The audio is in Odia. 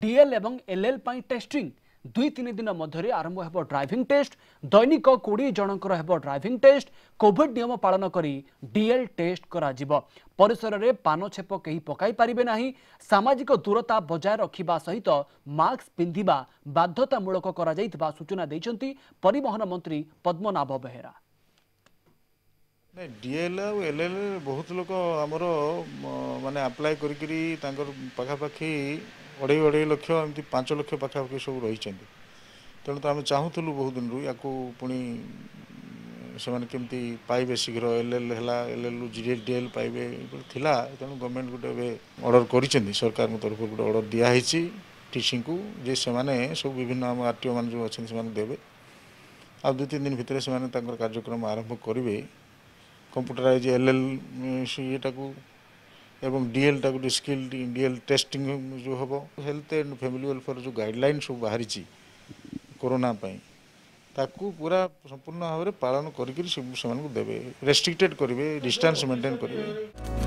ଡିଏଲ୍ ଏବଂ ଏଲ୍ଏଲ୍ ପାଇଁ ଟେଷ୍ଟିଂ। 2-3 ଦିନ ମଧ୍ୟରେ ଆରମ୍ଭ ହେବ ଡ୍ରାଇଭିଂ ଟେଷ୍ଟ। ଦୈନିକ 20 ଜଣଙ୍କର ହେବ ଡ୍ରାଇଭିଂ ଟେଷ୍ଟ। କୋଭିଡ୍ ନିୟମ ପାଳନ କରି ଡିଏଲ୍ ଟେଷ୍ଟ କରାଯିବ। ପରିସରରେ ପାନ ଛେପ କେହି ପକାଇ ପାରିବେ ନାହିଁ। ସାମାଜିକ ଦୂରତା ବଜାୟ ରଖିବା ସହିତ ମାସ୍କ ପିନ୍ଧିବା ବାଧ୍ୟତାମୂଳକ କରାଯାଇଥିବା ସୂଚନା ଦେଇଛନ୍ତି ପରିବହନ ମନ୍ତ୍ରୀ ପଦ୍ମନାଭ ବେହେରା। ନାଇଁ, ଡିଏଲ୍ ଆଉ ଏଲ୍ ଏଲ୍ ବହୁତ ଲୋକ ଆମର ମାନେ ଆପ୍ଲାଏ କରିକିରି ତାଙ୍କର ପାଖାପାଖି 2.5 2.5 ଲକ୍ଷ, ଏମିତି 5 ଲକ୍ଷ ପାଖାପାଖି ସବୁ ରହିଛନ୍ତି। ତେଣୁ ତ ଆମେ ଚାହୁଁଥିଲୁ ବହୁତ ଦିନରୁ ୟାକୁ ପୁଣି ସେମାନେ କେମିତି ପାଇବେ ଶୀଘ୍ର, ଏଲ୍ ଏଲ୍ ହେଲା, ଏଲ୍ ଏଲ୍ରୁ ଜି ଡି ଏଲ୍ ପାଇବେ ଥିଲା। ତେଣୁ ଗଭର୍ଣ୍ଣମେଣ୍ଟ ଗୋଟେ ଏବେ ଅର୍ଡ଼ର କରିଛନ୍ତି, ସରକାରଙ୍କ ତରଫରୁ ଗୋଟେ ଅର୍ଡ଼ର ଦିଆହେଇଛି ଟିସିଙ୍କୁ ଯେ ସେମାନେ ସବୁ ବିଭିନ୍ନ ଆମ ଆର୍ ଟି ଓ ମାନେ ଯେଉଁ ଅଛନ୍ତି ସେମାନେ ଦେବେ। ଆଉ 2-3 ଦିନ ଭିତରେ ସେମାନେ ତାଙ୍କର କାର୍ଯ୍ୟକ୍ରମ ଆରମ୍ଭ କରିବେ। କମ୍ପ୍ୟୁଟରାଇଜ୍ ଏଲ୍ ଏଲ୍ ଇଏଟାକୁ ଏବଂ ଡିଏଲ୍ଟାକୁ, ସ୍କିଲ୍ ଡିଏଲ୍ ଟେଷ୍ଟିଂ ଯେଉଁ ହେବ, ହେଲ୍ଥ ଆଣ୍ଡ ଫ୍ୟାମିଲି ୱେଲଫେୟାର ଯେଉଁ ଗାଇଡ଼ଲାଇନ୍ ସବୁ ବାହାରିଛି କରୋନା ପାଇଁ, ତାକୁ ପୁରା ସମ୍ପୂର୍ଣ୍ଣ ଭାବରେ ପାଳନ କରିକିରି ସେମାନଙ୍କୁ ଦେବେ, ରେଷ୍ଟ୍ରିକ୍ଟେଡ଼ କରିବେ, ଡିଷ୍ଟାନ୍ସ ମେଣ୍ଟେନ୍ କରିବେ।